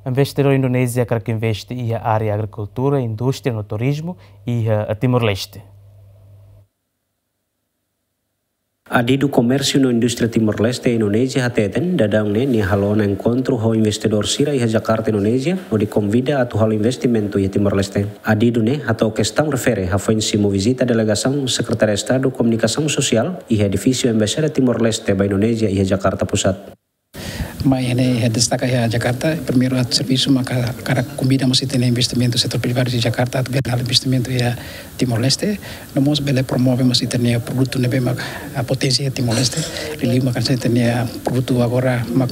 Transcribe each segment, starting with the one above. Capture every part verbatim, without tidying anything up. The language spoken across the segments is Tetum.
Investidór Indonézia hakarak investe iha área agrikultura, indústria no turizmu iha Timor-Leste. Adidu Komérsiu no Indústria Timor-Leste Indonézia hateten, daudaun ne'e nia halo ona enkontru ho investidór sira iha Jakarta, Indonézia, hodi konvida atu halo investimentu iha Timor-Leste. Adidu ne'e hato'o kestaun refere hafoin simu vizita delegasaun Sekretáriu Estadu Komunikasaun Sosiál iha edifísiu Embaixada Timor-Leste ba Indonézia iha Jakarta Pusat. Mai ne'e destaka iha Jakarta, primeiru atu servisu maka hakarak konvida mós ita-nia investimentu setór privadu iha Jakarta atu bele halo investimentu iha Timor-Leste, no mós bele promove mós ita-nia produtu ne'ebé mak, ah, poténsia iha Timor-Leste. Liuliu mak hanesan ita-nia produtu agora mak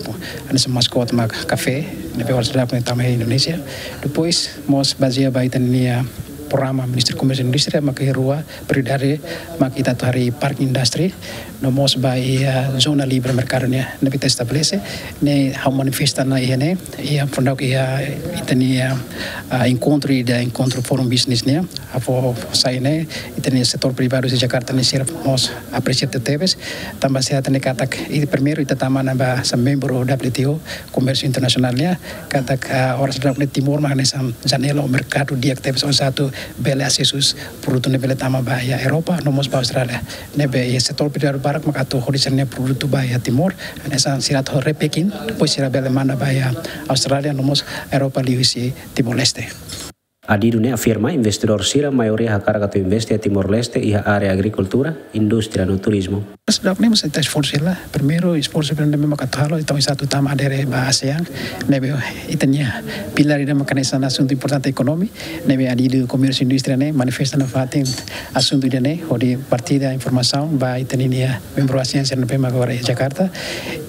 hanesan maskot mak kafé, ne'ebé oras daudaun ne'e tama iha Indonézia. Depois mós bazeia ba ita-nia programa Ministériu Komérsiu no Indústria mak iha rua prioridade, mak ita atu harii park industry, no mós ba iha zona livre merkadu nian ne'ebé ita estabelese, ne'e ha'u manifesta ona iha ne'e, iha fundau iha ita-nia, ah, enkontru ida, enkontru forum business nian, ha'u fó sai ne'e, ita-nia setór privadu iha Jakarta ne'e sira mós apresia tebes, tanba sira hatene katak, i primeiru ita tama ona ba hanesan membru W T O, komérsiu internasionál nian, katak, ah, oras daudaun ne'e Timor mak hanesan janela ou merkadu di'ak tebes oinsá atu bele asesu produtu ne'e bele tama ba iha Europa, no mós ba Austrália. Ne'ebé iha setór privadu barak mak atu hodi sira-nia produtu ba iha Timor, hanesan sira atu repacking, depois sira bele manda ba iha Austrália, no mós Europa liuhusi Timor-Leste. Adidu ne'e afirma investidór sira maioria hakarak atu investe iha Timor-Leste iha área agrikultura, indústria no turizmu. Seidauk ne'e mós ita esforsu hela. Primeiru esforsu ne'ebé mak atu halo, entaun ita atu tama adere ba ASEAN, ne'ebé ita-nia pilár ida mak hanesan asuntu importante ekonomia, ne'ebé Adidu Komérsiu Indústria ne'e manifesta nafatin asuntu ida-ne'e, hodi partilla informasaun ba ita-nia membru ASEAN sira ne'ebé mak agora iha Jakarta.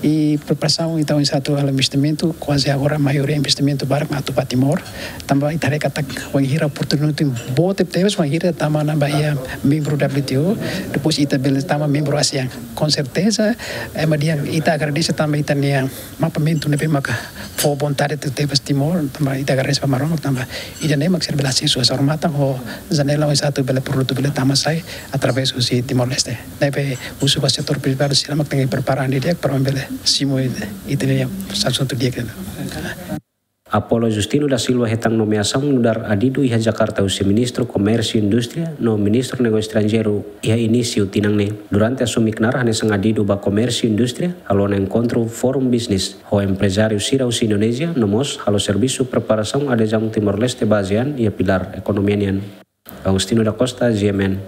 I preparasaun entaun ita atu halo investimentu, kuaze agora maioria investimentu barak mak atu ba Timor. Tanba ita haree katak wainhira oportunidade boot tebes, wainhira tama ona ba iha membru W T O, depois ita bele tama membru ASEAN. Com certeza, ema dehan ita agradese tanba ita-nia mapeamentu ne'ebé maka fó vontade tebes Timor, tanba ita agradese ba Maromak, tanba ida-ne'e mak sira bele asesu hanesan odamatan ho janela oinsá atu bele produtu bele tama sai através husi Timor-Leste. Ne'ebé husu ba setór privadu sira mak tenke prepara an didi'ak para bele simu ita-nia asuntu di'ak. Apolo Justino da Silva hetan nomeasaun nu'udar Adidu iha Jakarta husi Ministru Komérsiu Indústria no Ministru Negósiu Estranjeiru iha inísiu tinan ne'e. Durante asumi knaar hanesan Adidu ba Komérsiu Indústria, halo ona enkontru forum business ho emprezáriu sira husi Indonézia, no mós halo servisu preparasaun adezaun Timor-Leste ba ASEAN iha pilár ekonomia nian. Agostinho da Costa, G M N.